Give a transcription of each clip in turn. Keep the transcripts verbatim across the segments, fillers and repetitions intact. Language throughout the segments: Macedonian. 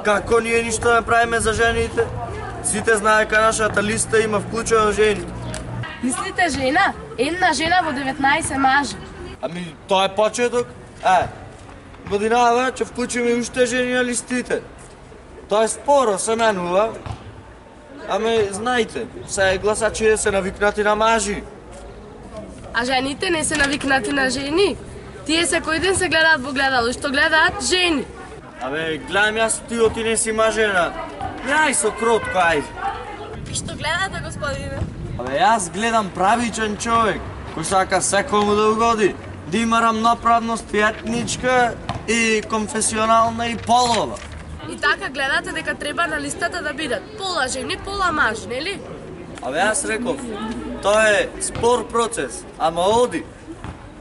Како ние ништо не правиме за жените? Сите знае дека нашата листа има вклучено жени. Мислите жена? Една жена во деветнаесет мажи. Ами, тоа е почеток. Е, годинава ќе вклучиме уште жени на листите. Тоа е споро, се менува. Ами, знаете, се гласачите се навикнати на мажи. А жените не се навикнати на жени. Тие секој ден се гледаат во гледало, што гледаат жени. Абе, гледам јас ти оти не си мажена. Јај со кротко, ајде. Што гледате, господине? Абе, јас гледам правичен човек, кој сака секому да угоди, да има рамноправност и етничка, и конфесионална, и полова. И така гледате дека треба на листата да бидат пола жени, пола мажи, нели? Абе, јас реков, тоа е спор процес, ама оди.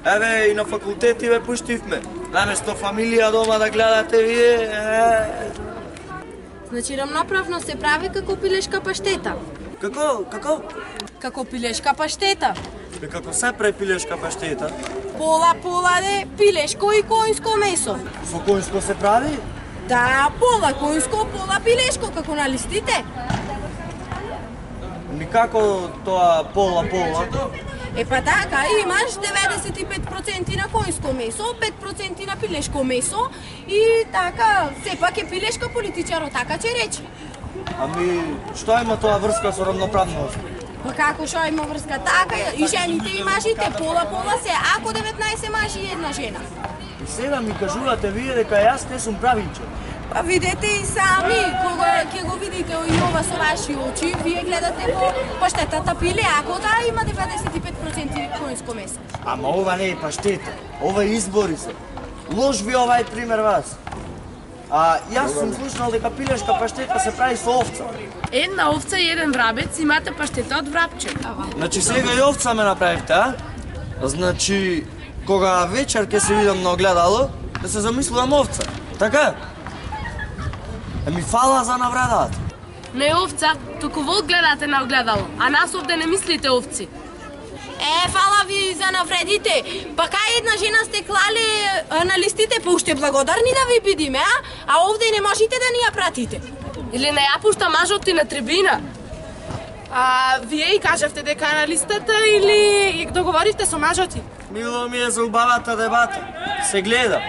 Еве, и на факултети ве пуштивме. Наместо фамилија дома да гледате вие, е... Значи, рамноправност се прави како пилешка паштета. Како, како? Како пилешка паштета. Бе, како се прави пилешка паштета? Пола-пола де пилешко и коњско месо. Со коњско се прави? Да, пола коњско, пола пилешко, како на листите. Ми како тоа пола-пола? Е па така, имаш деветдесет и пет проценти на коњско месо, пет проценти на пилешко месо и така, сепак е пилешка политичаро, така че речи. Ами, што има тоа врска со рамноправност? Па како што има врска така, и жените и мажите, пола-пола се, ако деветнаесет мажи и една жена. И сега ми кажувате вие дека јас не сум правичен. Па видете и сами, кога ќе го видите и ова со ваши очи, вие гледате во паштетата пиле, ако да има деветдесет и пет проценти коњско месо. Ама ова не е паштета, ова е избори се. Лош ви овај пример вас. А јас сум слушнал дека пилешка паштета се прави со овца. Една овца и еден врабец имате паштета од врабче. Значи сега и овца ме направивте, а? Значи, кога вечер ќе се видам на огледало, да се замислувам овца. Така? Еми фала за навредата. Не овца, туку волк гледате на огледало, а нас овде не мислите овци. Е, фала ви за навредите. Па кај една жена сте клали на листите, па уште благодарни да ви бидиме, а? А овде не можете да ни ја пратите. Или не ја пушта мажот ти на трибина. А вие и кажавте дека на листата или договорите со мажот ти? Мило ми е за убавата дебата. Се гледа.